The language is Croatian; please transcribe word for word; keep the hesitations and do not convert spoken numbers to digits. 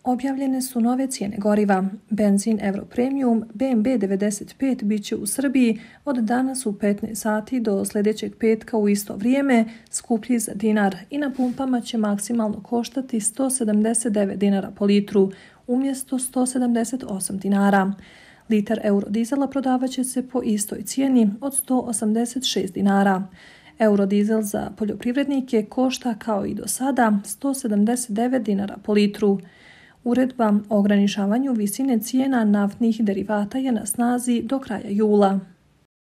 Objavljene su nove cijene goriva. Benzin Euro Premium B M B devedeset pet bit će u Srbiji od danas u petnaest sati do sljedećeg petka u isto vrijeme skuplji za dinar i na pumpama će maksimalno koštati sto sedamdeset devet dinara po litru umjesto sto sedamdeset osam dinara. Litar eurodizela prodavat će se po istoj cijeni od sto osamdeset šest dinara. Eurodizel za poljoprivrednike košta kao i do sada sto sedamdeset devet dinara po litru. Uredba o ograničavanju visine cijena naftnih derivata je na snazi do kraja jula.